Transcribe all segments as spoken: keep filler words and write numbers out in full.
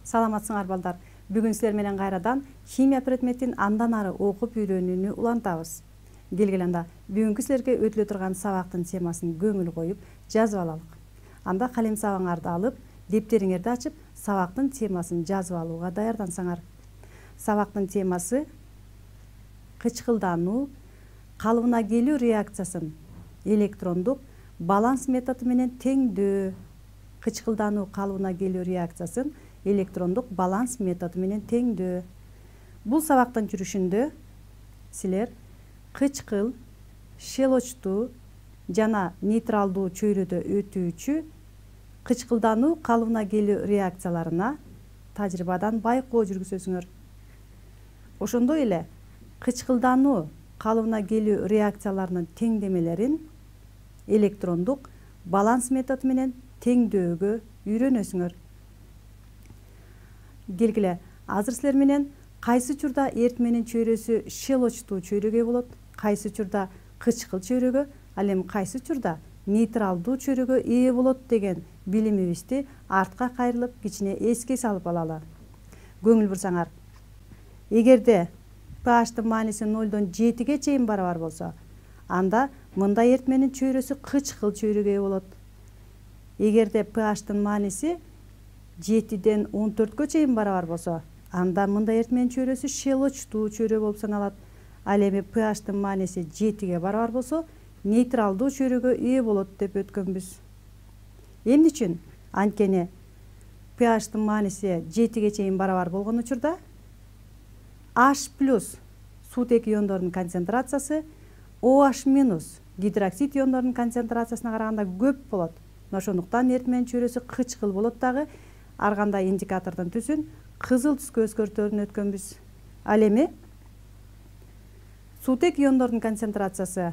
Саламатсыңар балдар. Бүгүн силер менен кайрадан химия предметин андан ары окуп үйрөнүүнү улантабыз. Келгиле анда бүгүнкү силерге өтүлө турган сабактын темасын көңүл коюп жазып алалык. Анда калем сабаңарды алып, дептериңерди ачып, сабактын темасын жазып алууга даярдансаңар. Сабактын темасы кычкылдануу, калыбына келүү реакциясын электрондук баланс методу менен теңдөө. Кычкылдануу калыбына келүү реакциясын электрондук баланс методу менен теңдөө. Бул сабактын жүрүшүндө силер кычкыл, щелочтуу жана нейтралдуу чөйрөдө өтүүчү кычкылдануу калыбына келүү реакцияларына тажрыйбадан байкоо жүргүзөсүңөр. Ошондой эле кычкылдануу калыбына келүү реакцияларынын теңдемелерин электрондук баланс методу менен теңдөөгө үйрөнөсүңөр. Келгиле, азыр силер менен кайсы учурда эритменин чөйрөсү щелочтуу чөйрөгө болот, кайсы учурда кычкыл чөйрөгө, ал эми кайсы учурда нейтралдуу чөйрөгө ээ болот деген билимибизди артка кайрылып кичине эске салып алалы. Көңүл бурсаңар, эгерде pH'тын мааниси нолдон жетиге чейин барабар болсо, анда мындай эритменин чөйрөсү кычкыл чөйрөгө ээ болот. Эгерде pH'тын мааниси жетиден он төрткө чейин барабар болсо, анда мындай эритменин чөйрөсү щелочтуу чөйрө болуп саналат. Ал эми pH'тын мааниси жетиге барабар болсо, нейтралдуу чөйрөгө ээ болот деп өткөнбүз. Эмне үчүн? Анткени pH'тын мааниси жетиге чейин барабар болгон учурда H плюс суутек иондордун концентрациясы OH минус гидроксид иондордун концентрациясына караганда көп болот. Ошондуктан эритменин чөйрөсү кычкыл болот дагы. Ар кандай индикатордун түсүн кызыл түскө өзгөртөөрүн өткөнбүз. Ал эми суутек иондордун концентрациясы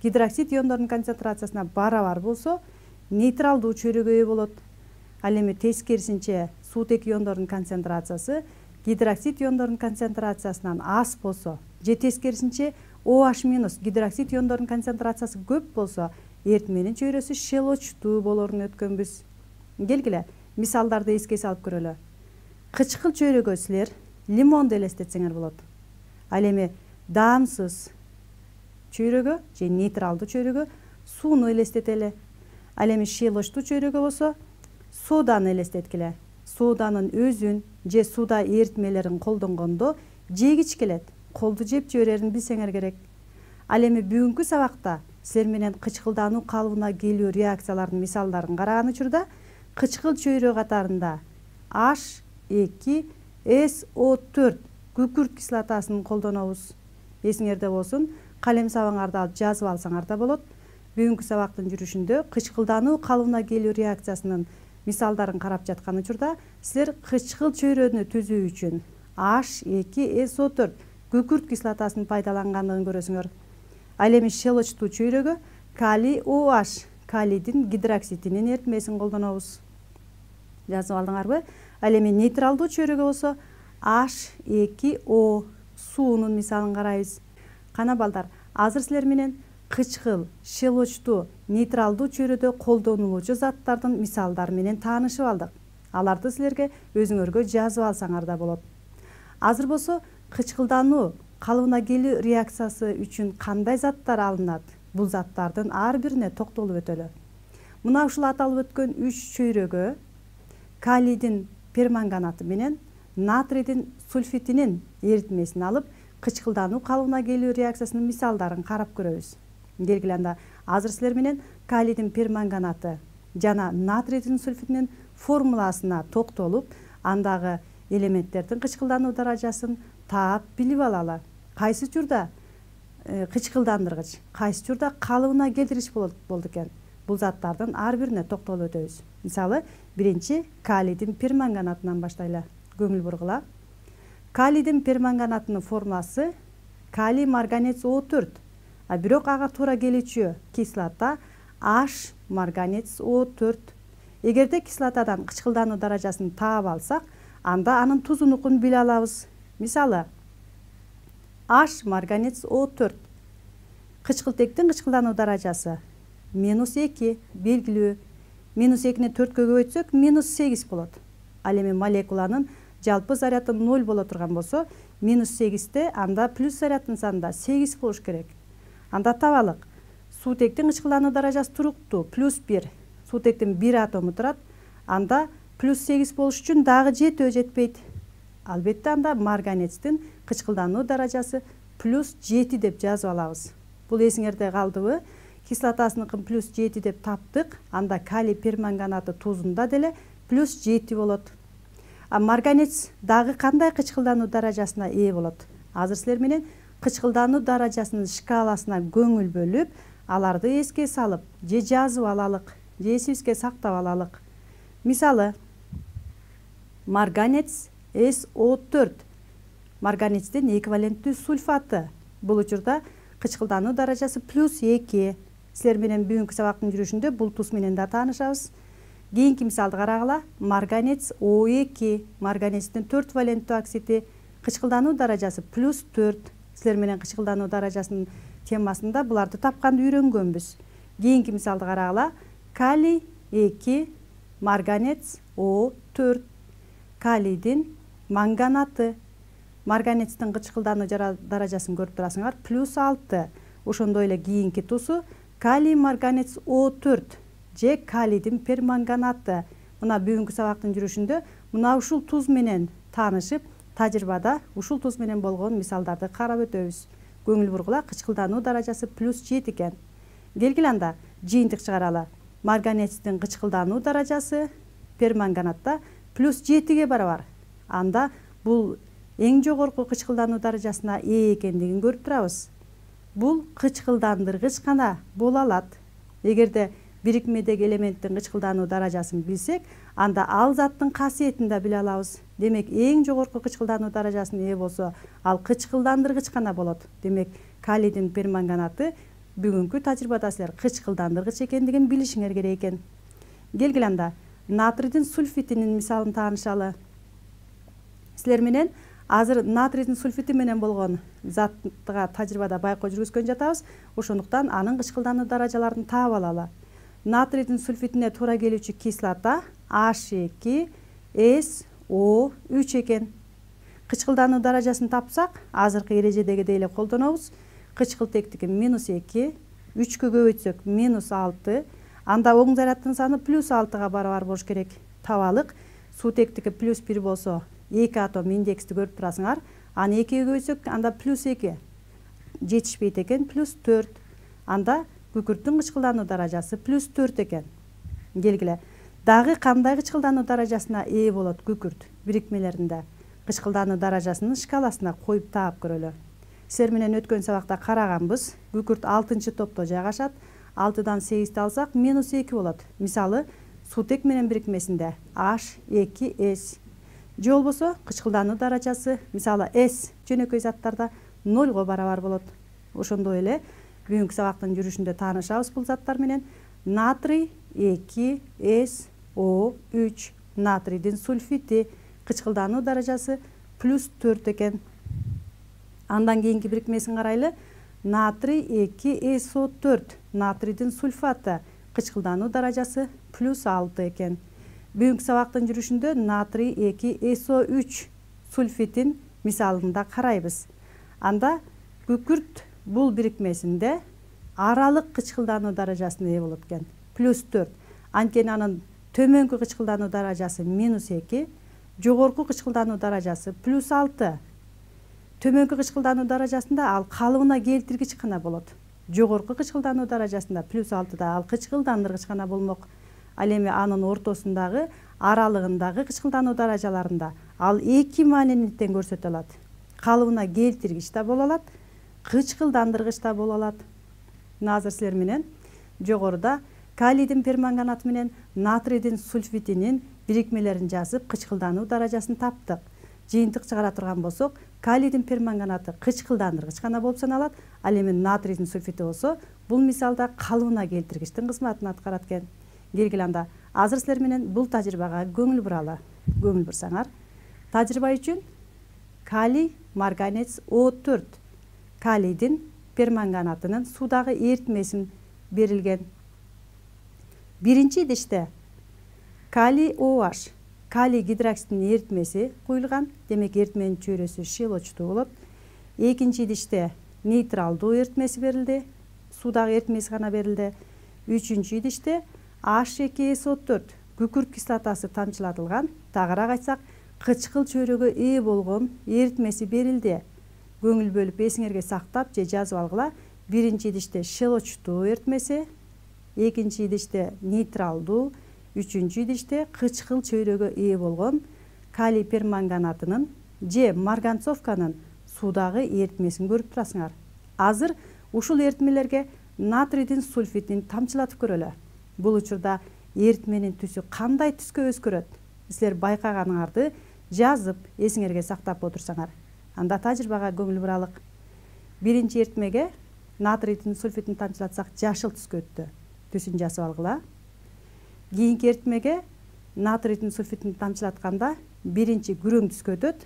гидроксид иондордун концентрациясына барабар болсо, нейтралдуу чөйрөгө ээ болот. Ал эми тескерисинче суутек иондордун концентрациясы гидроксид иондордун концентрациясынан аз болсо, же тескерисинче OH минус гидроксид иондордун концентрациясы көп болсо, эритменин чөйрөсү щелочтуу болоорун өткөнбүз. Келгиле, мисалдарды эске салып көрөлү. Кычкыл чөйрөгө силер лимонду элестетсеңер болот. Ал эми даамсыз чөйрөгө же нейтралдуу чөйрөгө сууну элестетели. Ал эми щелочтуу чөйрөгө болсо соданы элестеткиле. Соданын өзүн же сууда эритмелерин колдонгондо жегич келет. Колду жеп жиберерин билсеңер керек. Ал эми бүгүнкү сабакта силер менен кычкылдануу калыбына келүү реакцияларынын мисалдарын караган учурда кычкыл чөйрө катарында H эки эс о төрт күкүрт кислотасын колдонобуз. Эсиңерде болсун, калем сабаңарды алып жазып алсаңар да болот. Бүгүнкү сабактын жүрүшүндө кычкылдануу калыбына келүү реакциясынын мисалдарын карап жаткан учурда силер кычкыл чөйрөнү түзүү үчүн H эки эс о төрт күкүрт кислотасын пайдалангандыгын көрөсүңөр. Ал эми щелочтуу чөйрөгө калий OH, калийдин гидроксидинин эритмесин колдонобуз. Жазып алдыңарбы? Ал эми нейтралдуу чөйрөгө болсо H эки о суунун мисалын карайбыз. Кана балдар, азыр силер менен кычкыл, щелочтуу, нейтралдуу чөйрөдө колдонулуучу заттардын мисалдары менен таанышып алдык. Аларды силерге өзүңөргө жазып алсаңар да болот. Азыр болсо кычкылдануу калыбына келүү реакциясы үчүн кандай заттар алынат? Бул заттардын ар бирине токтолуп өтөлү. Мына ушул аталып өткөн үч чөйрөгө калийдин перманганаты менен натрийдин сульфитинин эритмесин алып, кычкылдануу калыбына келүү реакциясынын мисалдарын карап көрөбүз. Келгиле анда азыр силер менен калийдин перманганаты жана натрийдин сульфитинин формуласына токтолуп, андагы элементтердин кычкылдануу даражасын таап билип алалы. Кайсы учурда кычкылдандыргыч, кайсы учурда калыбына келтириш болот болду экен. Бул заттардын ар бирине токтолуп өтөбүз. Мисалы, биринчи калийдин перманганатынан баштайлы. Көңүл бургула. Калийдин перманганатынын формуласы калий марганец о төрт. А бирок ага туура келүүчү кислота H марганец о төрт. Эгерде кислотадан кычкылдануу даражасын таап алсак, анда анын тузунукун биле алабыз. Мисалы, H марганец о төрт. Кычкылтектин кычкылдануу даражасы минус эки белгилүү. Минус экини төрткө көбөйтсөк минус сегиз болот. Ал эми молекуланын жалпы заряды ноль боло турган болсо, минус сегизде анда плюс заряддын санында сегиз болуш керек. Анда табалык. Суутектин кычкылдануу даражасы туруктуу, плюс бир. Суутектин бир атому турат. Анда плюс сегиз болуш үчүн дагы жетөө жетпейт. Албетте анда марганецтин кычкылдануу даражасы плюс жети деп жазып алабыз. Бул эсиңерде калдыбы? Кислотасыныкын плюс жети деп таптык. Анда калий перманганаты тузунда деле плюс жети болот. А марганец дагы кандай кычкылдануу даражасына ээ болот? Азыр силер менен кычкылдануу даражасынын шкаласына көңүл бөлүп, аларды эске салып, же жазып алалык, же эсибизге сактап алалык. Мисалы, марганец эс о төрт. Марганецтин эквиваленттүү сульфаты. Бул учурда кычкылдануу даражасы плюс эки. Силер менен бүгүнкү сабактын жүрүшүндө бул туз менен да таанышабыз. Кийинки мисалды карагыла. Марганец о эки. Марганецтин төрт валенттүү оксиди. Кычкылдануу даражасы плюс төрт. Силер менен кычкылдануу даражасынын темасында буларды тапканды үйрөнгөнбүз. Кийинки мисалды карагыла. Калий эки, марганец о төрт. Калийдин манганаты. Марганецтин кычкылдануу даражасын көрүп турасыңар, плюс алты. Ошондой эле кийинки тусу калий марганец о төрт же калийдин перманганаты. Мына бүгүнкү сабактын жүрүшүндө мына ушул туз менен таанышып, тажрыйбада ушул туз менен болгон мисалдарды карап өтөбүз. Көңүл бургула, кычкылдануу даражасы плюс жети экен. Келгиле анда жыйынтык чыгаралы. Марганецтин кычкылдануу даражасы перманганатта плюс жетиге барабар. Анда бул эң жогорку кычкылдануу даражасына ээ экендигин көрүп турабыз. Бул кычкылдандыргыч гана боло алат. Эгерде бирикмедеги элементтин кычкылдануу даражасын билсек, анда ал заттын касиетин да биле алабыз. Демек, эң жогорку кычкылдануу даражасына ээ болсо, ал кычкылдандыргыч гана болот. Демек, калийдин перманганаты бүгүнкү тажрыйбада силер кычкылдандыргыч экендигин билишиңер керек экен. Келгиле анда натрийдин сульфитинин мисалын таанышалы. Силер менен азыр натрийдин сульфити менен болгон заттыга тажрыйбада байкоо жүргүзгөн жатабыз. Ошондуктан анын кычкылдануу даражаларын таап алалы. Натрийдин сульфитине туура келүүчү кислота H эки эс о үч экен. Кычкылдануу даражасын тапсак, азыркы эрежедегидей эле колдонобуз. Кычкылтектики минус эки, үчкө көбөйтсөк минус алты, анда оң заряддын саны плюс алтыга барабар болуш керек. Табалык, суутектики плюс бир болсо, эки атом индексти көрүп турасыңар. Аны экиге көбөйтсөк, анда плюс эки. Жетишпейт экен, плюс төрт. Анда күкүрттүн кычкылдануу даражасы плюс төрт экен. Келгиле, дагы кандай кычкылдануу даражасына ээ болот күкүрт бирикмелеринде? Кычкылдануу даражасынын шкаласына коюп таап көрөлү. Силер менен өткөн сабакта караганбыз. Күкүрт алтынчы топто жайгашат. алтыдан сегизди алсак, минус эки болот. Мисалы, суутек менен бирикмесинде H эки эс. Же болбосо, кычкылдануу даражасы, мисалы, S жөнөкөй заттарда нольго барабар болот. Ошондой эле бүгүнкү сабактын жүрүшүндө таанышабыз бул заттар менен. Натрий эки эс о үч. Натрийдин сульфити кычкылдануу даражасы плюс төрт экен. Андан кийинки бирикмесин карайлы. Натрий эки эс о төрт. Натрийдин сульфаты кычкылдануу даражасы плюс алты экен. Бүгүнкү сабактын жүрүшүндө натрий эки эс о үч сульфитин мисалында карайбыз. Анда күкүрт бул бирикмесинде аралык кычкылдануу даражасына ээ болот экен. плюс төрт. Анткени анын төмөнкү кычкылдануу даражасы минус эки, жогорку кычкылдануу даражасы плюс алты. Төмөнкү кычкылдануу даражасында ал калыбына келтиргич гана болот. Жогорку кычкылдануу даражасында плюс алтыда ал кычкылдандыргыч гана болмок. Ал эми анын ортосундагы, аралыгындагы кычкылдануу даражаларында ал эки маанини тең көрсөтө алат. Калыбына келтиргич да боло алат, кычкылдандыргыч да боло алат. Азыр силер менен жогоруда калийдин перманганаты менен натрийдин сульфитинин бирикмелерин жазып, кычкылдануу даражасын таптык. Жыйынтык чыгара турган болсок, калийдин перманганаты кычкылдандыргыч гана болуп саналат. Ал эми натрийдин сульфити болсо, бул мисалда калыбына келтиргичтин кызматын аткарат экен. Келгиле анда азыр силер менен бул тажрыйбага көңүл буралы. Көңүл бурсаңар, тажрыйба үчүн калий марганец о төрт. Калийдин перманганатынын суудагы эритмесин берилген. Биринчи идиште калий OH калий гидроксиддин эритмеси куюлган, демек эритменин чөйрөсү щелочтуу болот. Экинчи идиште нейтралдуу эритмеси берилди, суудагы эритмеси гана берилди. Үчүнчү идиште H эки S O төрт күкүрт кислотасы тамчылатылган, тагыраак айтсак, кычкыл чөйрөгө ээ болгон эритмеси берилди. Көңүл бөлүп эсиңерге сактап же жазып алгыла. Биринчи идиште щелочтуу эритмеси, экинчи идиште нейтралдуу, үчүнчү идиште кычкыл чөйрөгө ээ болгон калий перманганатынын же марганцовканын суудагы эритмесин көрүп турасыңар. Азыр ушул эритмелерге натрийдин сульфидин тамчылатып көрөлү. Бул учурда эритменин түсү кандай түскө өзгөрөт? Силер байкаганыңарды жазып, эсиңерге сактап отурсаңар, анда тажрыйбага көңүл буралык. Биринчи эритмеге натрийдин сульфидин тамчылатсак жашыл түскө өттү. Түсүн жазып алгыла. Кийинки эритмеге натрийдин сульфидин тамчылатканда биринчи күрөң түскө өтөт.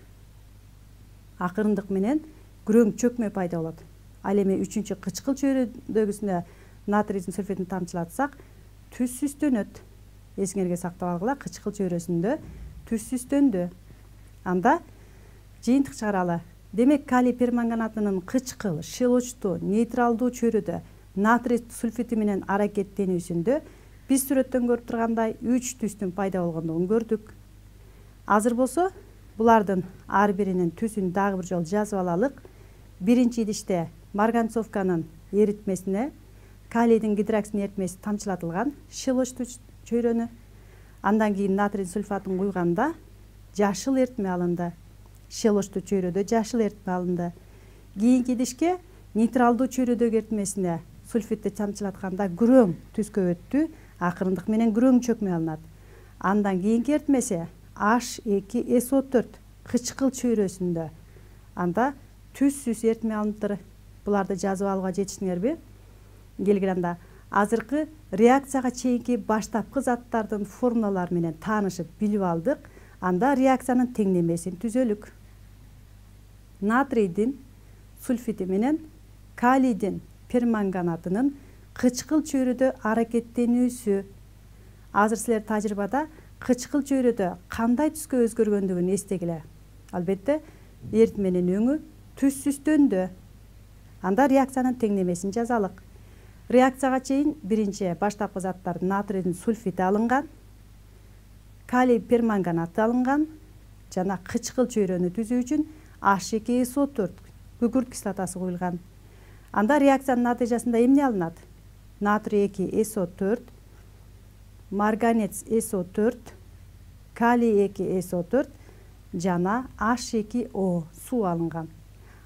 Акырындык менен күрөң чөкмө пайда болот. Ал эми үчүнчү кычкыл чөйрөдөгүсүнө натрийдин сульфидин тамчылатсак түс сүстөнөт. Эсиңерге сактап алгыла, кычкыл чөйрөсүндө түс сүстөндү. Анда жыйынтык чыгаралы. Демек калий перманганатынын кычкыл, щелочтуу, нейтралдуу чөйрөдө натрий сульфиди менен аракеттенүүсүндө биз сүрөттөн көрүп тургандай үч түстүн пайда болгондугун көрдүк. Азыр болсо булардын ар биринин түсүн дагы бир жолу жазып алалык. Биринчи идиште марганцовканын эритмесине калийдин гидроксиддин эритмеси тамчылатылган щелочтуу чөйрөнү. Андан кийин натрий сульфатын куйганда жашыл эритме алынды. Щелочтуу чөйрөдө жашыл эритме алынды. Кийинки идишке нейтралдуу чөйрөдөгү эритмесине сульфидди тамчылатканда күрөң түскө өттү. Акырындык менен күрөң чөкмөй алынат. Андан кийинки эритмеси H эки S O төрт кычкыл чөйрөсүндө. Анда түссүз эритме алыныптыр. Буларды жазып алууга жетиштиңерби? Келгенде азыркы реакцияга чейинки баштапкы заттардын формулалары менен таанышып билип алдык. Анда реакциянын теңдемесин түзөлүк. Натрийдин сульфиди менен калийдин перманганатынын кычкыл чөйрөдө аракеттенүүсү. Азыр силер тажрыйбада кычкыл чөйрөдө кандай түскө өзгөргөндүгүн эстегиле. Албетте, эритменин өңү түс сүстөндү. Анда реакциянын теңдемесин жазалык. Реакцияга чейин биринчи баштапкы заттар натрийдин сульфиди алынган, калий перманганаты алынган жана кычкыл чөйрөнү түзүү үчүн H эки S O төрт күкүрт кислотасы куюлган. Анда реакциянын натыйжасында эмне алынат? Натрий эки S O төрт, марганец S O төрт, калий эки S O төрт жана H эки O суу алынган.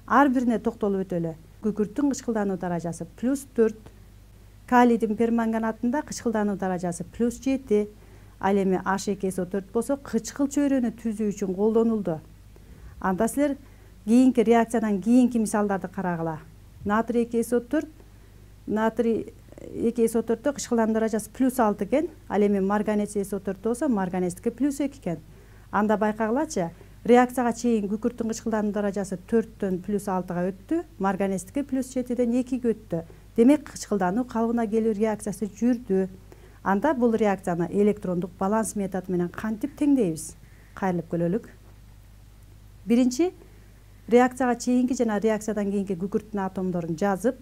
Ар бирине токтолуп өтөлү. Күкүрттүн кычкылдануу даражасы плюс төрт, калийдин перманганатында кычкылдануу даражасы плюс жети, ал эми H эки S O төрт болсо кычкыл чөйрөнү түзүү үчүн колдонулду. Анда силер кийинки реакциядан кийинки мисалдарды карагыла. Натрий эки S O төрт, натрий эки S O төрттө кычкылдануу даражасы плюс алты экен, ал эми марганец S O төрт болсо марганецтики плюс эки экен. Анда байкагылачы, реакцияга чейин күкүрттүн кычкылдануу даражасы төрттөн плюс алтыга өттү, марганецтики плюс жетиден экиге өттү. Демек кычкылдануу калыбына келүү реакциясы жүрдү. Анда бул реакцияны электрондук баланс методу менен кантип теңдейбиз? Кайрылып көрөлүк. Биринчи, реакцияга чейинки жана реакциядан кийинки күкүрттүн атомдорун жазып,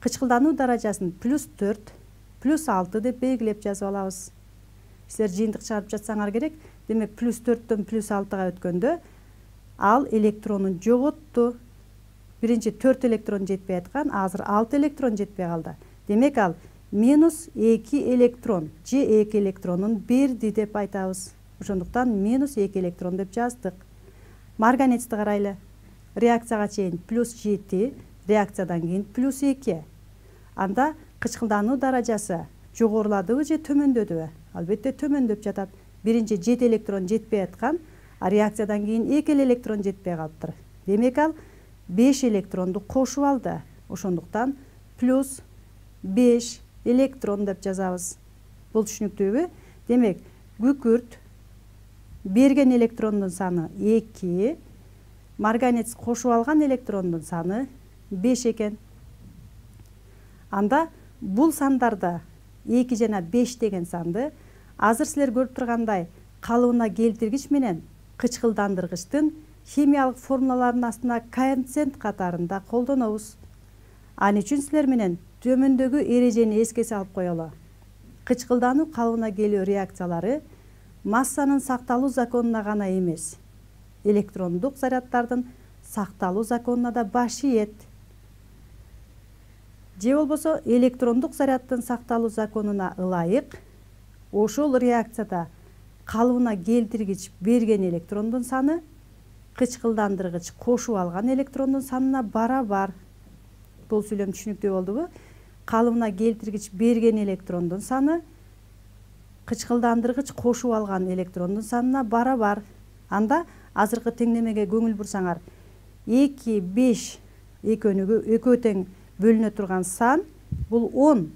кычкылдануу даражасын плюс төрт, плюс алты деп белгилеп жазып алабыз. Силер жыйынтык чыгарып жатсаңар керек. Демек плюс төрттөн плюс алтыга өткөндө ал электронун жоготту. Биринчи төрт электрон жетпей аткан, азыр алты электрон жетпей калды. Демек ал минус эки электрон же эки электронун берди деп айтабыз. Ошондуктан минус эки электрон деп жаздык. Марганецти карайлы. Реакцияга чейин плюс жети, реакциядан кийин плюс эки. Анда кычкылдануу даражасы жогоруладыбы же төмөндөдүбү? Албетте төмөндөп жатат. Биринчи жети электрон жетпей аткан, а реакциядан кийин эки электрон жетпей калыптыр. Демек ал беш электронду кошуп алды. Ошондуктан плюс беш электрон деп жазабыз. Бул түшүнүктүүбү? Демек күкүрт берген электрондун саны эки, марганец кошуп алган электрондун саны беш экен. Анда бул сандарды эки жана беш деген санды азыр силер көрүп тургандай калыбына келтиргич менен кычкылдандыргычтын химиялык формулаларынын астына коэффициент катарында колдонобуз. Ал үчүн силер менен төмөндөгү эрежени эске салып коелу. Кычкылдануу калыбына келүү реакциялары массанын сакталуу законуна гана эмес, электрондук заряддардын сакталуу законуна да баш ийет. Же болбосо электрондук заряддын сакталуу законуна ылайык ошол реакцияда калыбына келтиргич берген электрондун саны кычкылдандыргыч кошуп алган электрондун санына барабар. Бул сүйлөм түшүнүктүү болдубу? Калыбына келтиргич берген электрондун саны кычкылдандыргыч кошуп алган электрондун санына барабар. Анда азыркы теңдемеге көңүл бурсаңар, эки, беш экөөнүгү экөө тең бөлүнө турган сан бул он.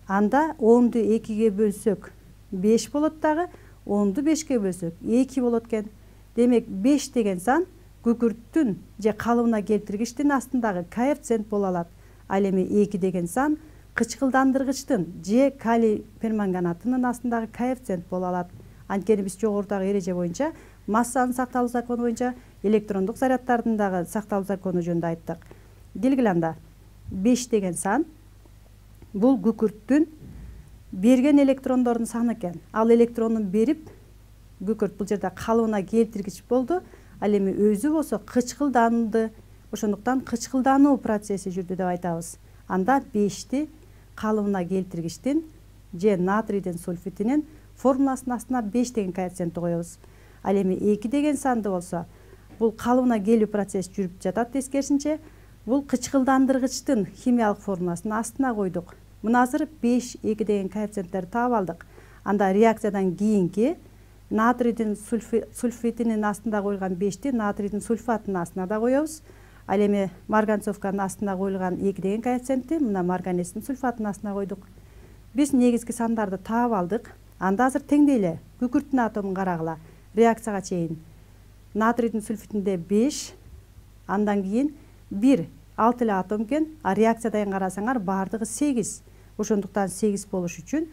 Анда онду экиге бөлсөк беш болот дагы, онду бешке бөлсөк эки болот экен. Демек беш деген сан күкүрттүн же калыбына келтиргичтин астындагы коэффициент боло алат. Ал эми эки деген сан кычкылдандыргычтын же калий перманганатынын астындагы коэффициент боло алат. Анткени биз жогорудагы эреже боюнча массанын сакталуу закону боюнча электрондук заряддардын дагы сакталуу закону жөнүндө айттык. Келгиле анда беш деген сан бул күкүрттүн берген электрондордун саны экен. Ал электрондун берип күкүрт бул жерде калыбына келтиргич болду. Ал эми өзү болсо кычкылданды. Ошондуктан кычкылдануу процесси жүрдү деп айтабыз. Анда бешти калыбына келтиргичтин же натрийдин сульфитинин формуласынын астына беш деген коэффициентти коебуз. Ал эми эки деген санды болсо бул калыбына келүү процесси жүрүп жатат. Тескерисинче бул кычкылдандыргычтын химиялык формуласынын астына койдук. Мына азыр беш, эки деген коэффициенттерди таап алдык. Анда реакциядан кийинки натрийдин сульфитинин астында коюлган бешти натрийдин сульфатынын астына да коебуз. Ал эми марганцовканын астына коюлган эки деген коэффициентти мына марганецтин сульфатынын астына койдук. Биз негизги сандарды таап алдык. Анда азыр теңдейле. Күкүрттүн атомун карагыла. Реакцияга чейин натрийдин сульфитинде беш, андан кийин бир, алты эле атом экен, а реакциядайын карасаңар баардыгы сегиз. Ошондуктан сегиз болуш үчүн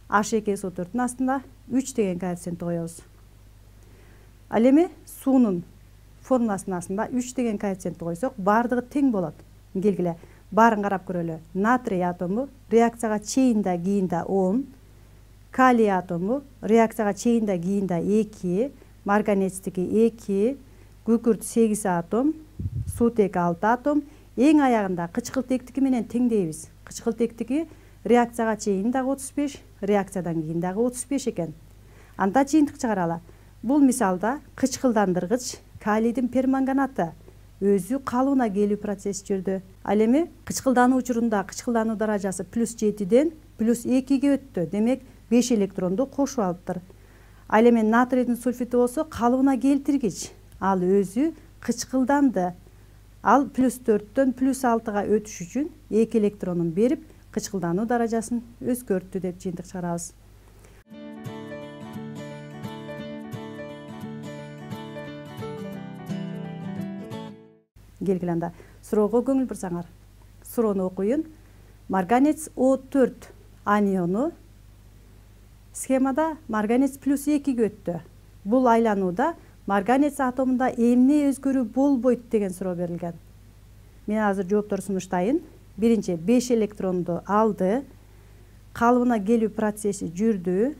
H эки эс о төрттүн астында үч деген коэффициентти коебуз. Ал эми суунун формуласынын астында үч деген коэффициентти койсок, баардыгы тең болот. Келгиле, баарын карап көрөлү. Натрий атому реакцияга чейин да кийин да он, калий атому реакцияга чейин да кийин да эки, марганецтики эки, күкүрт сегиз атом, суутек алты атом, эң аягында кычкылтектики менен теңдейбиз. Кычкылтектики реакцияга чейин дагы отуз беш, реакциядан кийин дагы отуз беш экен. Анда жыйынтык чыгаралы. Бул мисалда кычкылдандыргыч калийдин перманганаты өзү калыбына келүү процесси жүрдү. Ал эми кычкылдануу учурунда кычкылдануу даражасы плюс жетиден плюс экиге өттү. Демек беш электронду кошуп алыптыр. Ал эми натрийдин сульфити болсо калыбына келтиргич. Ал өзү кычкылданды. Ал плюс төрттөн плюс алтыга өтүш үчүн эки электронун берип кычкылдануу даражасын өзгөрттү деп жыйынтык чыгарабыз. Келгиле анда суроого көңүл бурсаңар. Суроону окуйун. Марганец о төрт аниону схемада марганец плюс экиге өттү. Бул айланууда марганец атомунда эмне өзгөрүү болбойт деген суроо берилген. Мен азыр жооптор сунуштайын. Биринчи, беш электронду алды, калыбына келүү процесси жүрдү,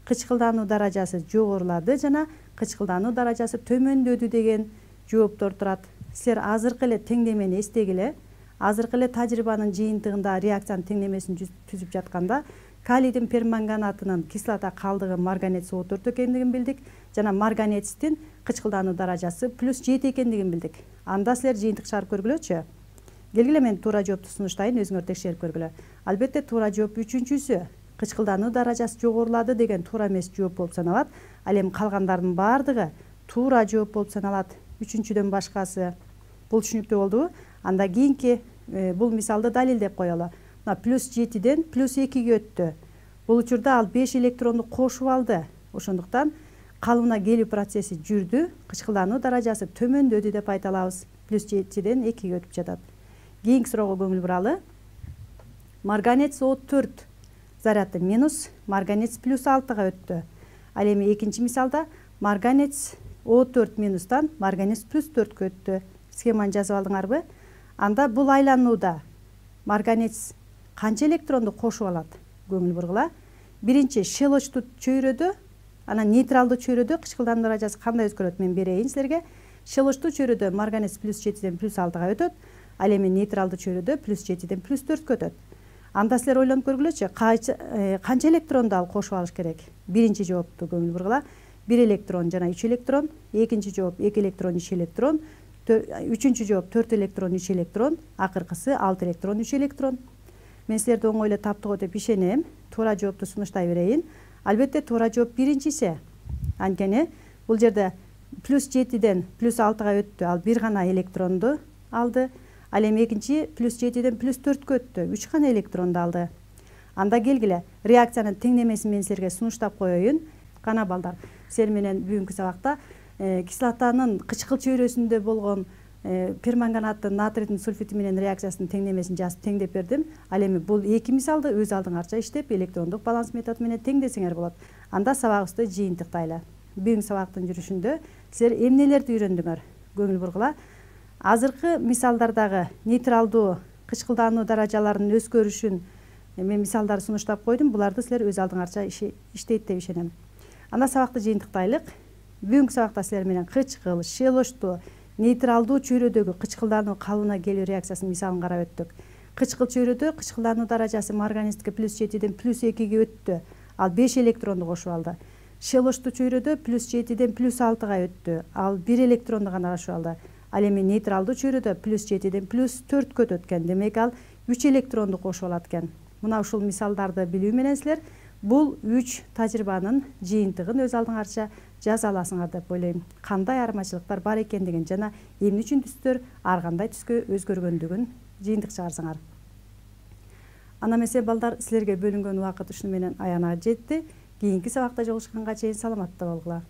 кычкылдануу даражасы жогорулады жана кычкылдануу даражасы төмөндөдү деген жооптор турат. Силер азыркы эле теңдемени эстегиле. Азыркы эле тажрыйбанын жыйынтыгында реакциянын теңдемесин түзүп жатканда калийдин перманганатынын кислота калдыгы марганец о төрт экендигин билдик жана марганецтин кычкылдануу даражасы плюс жети экендигин билдик. Анда силер жыйынтык чыгарып көргүлөчү. Келгиле, мен туура жоопту сунуштайын, өзүңөр текшерип көргүлө. Албетте туура жооп үчүнчүсү. Кычкылдануу даражасы жогорулады деген туура эмес жооп болуп саналат. Ал эми калгандардын баардыгы туура жооп болуп саналат. Үчүнчүдөн башкасы. Бул түшүнүктүү болдубу? Анда кийинки бул мисалды далилдеп коелу. Мына плюс жетиден плюс экиге өттү. Бул учурда ал беш электронду кошуп алды. Ошондуктан калыбына келүү процесси жүрдү, кычкылдануу даражасы төмөндөдү деп айта алабыз. Плюс жетиден экиге өтүп жатат. Кийинки суроого көңүл буралы. Марганец о төрт заряды минус, марганец плюс алтыга өттү. Ал эми экинчи мисалда марганец О төрт минустан марганец плюс төрткө өттү. Схеманы жазып алдыңарбы? Анда бул айланууда марганец канча электронду кошуп алат? Көңүл бургула. Биринчи шелочтуу чөйрөдө, анан нейтралдуу чөйрөдө кычкылдануу даражасы кандай өзгөрөт? Мен берейин силерге. Шелочтуу чөйрөдө марганец плюс жетиден плюс алтыга өтөт. Ал эми нейтралдуу чөйрөдө плюс жетиден плюс төрткө өтөт. Анда силер ойлонуп көргүлөчү, канча электронду ал кошуп алыш керек? Биринчи жоопту көңүл бургула. бир электрон жана үч электрон, экинчи жооп эки электрон, үч электрон, үчүнчү жооп төрт электрон, үч электрон, акыркысы алты электрон, үч электрон. Мен силерди оңой эле таптыгы деп ишенем. Туура жоопту сунуштай берейин. Албетте туура жооп биринчиси. Анткени бул жерде плюс жетиден плюс алтыга өттү. Ал бир гана электронду алды. Ал эми экинчи плюс жетиден плюс төрткө өттү. үч гана электронду алды. Анда келгиле, реакциянын теңдемесин мен силерге сунуштап коеюн. Кана балдар, силер менен бүгүнкү сабакта кислотанын кычкыл чөйрөсүндө болгон перманганаттын натрийдин сульфити менен реакциясынын теңдемесин жазып теңдеп бердим. Ал эми бул эки мисалды өз алдыңарча иштеп, электрондук баланс методу менен теңдесеңер болот. Анда сабагыбызды жыйынтыктайлы. Бүгүнкү сабактын жүрүшүндө силер эмнелерди үйрөндүңөр? Көңүл бургула. Азыркы мисалдардагы нейтралдуу кычкылдануу даражаларынын өзгөрүшүн мен мисалдар сунуштап койдум. Буларды силер өз алдыңарча иштейт деп ишенем. Анда сабакты жыйынтыктайлык. Бүгүнкү сабакта силер менен кычкыл, шелочтуу, нейтралдуу чөйрөдөгү кычкылдануу калыбына келүү реакциясынын мисалын карап өттүк. Кычкыл чөйрөдө кычкылдануу даражасы марганецке плюс жетиден плюс экиге өттү. Ал беш электронду кошуп алды. Шелочтуу чөйрөдө плюс жетиден плюс алтыга өттү. Ал бир электронду гана кошуп алды. Ал эми нейтралдуу чөйрөдө плюс жетиден плюс төрткө өтөт экен. Демек ал үч электронду кошуп алат экен. Мына ушул мисалдарды билүү менен силер бул үч тажрыйбанын жыйынтыгын өз алдыңарча жаза аласыңар деп ойлойм. Кандай айырмачылыктар бар экендигин жана эмне үчүн түстөр ар кандай түскө өзгөргөндүгүн жыйынтык чыгарсаңар. Ана эмесе балдар, силерге бөлүнгөн убакыт ушуну менен аянага жетти. Кийинки сабакта жолугушканга чейин саламатта болгула.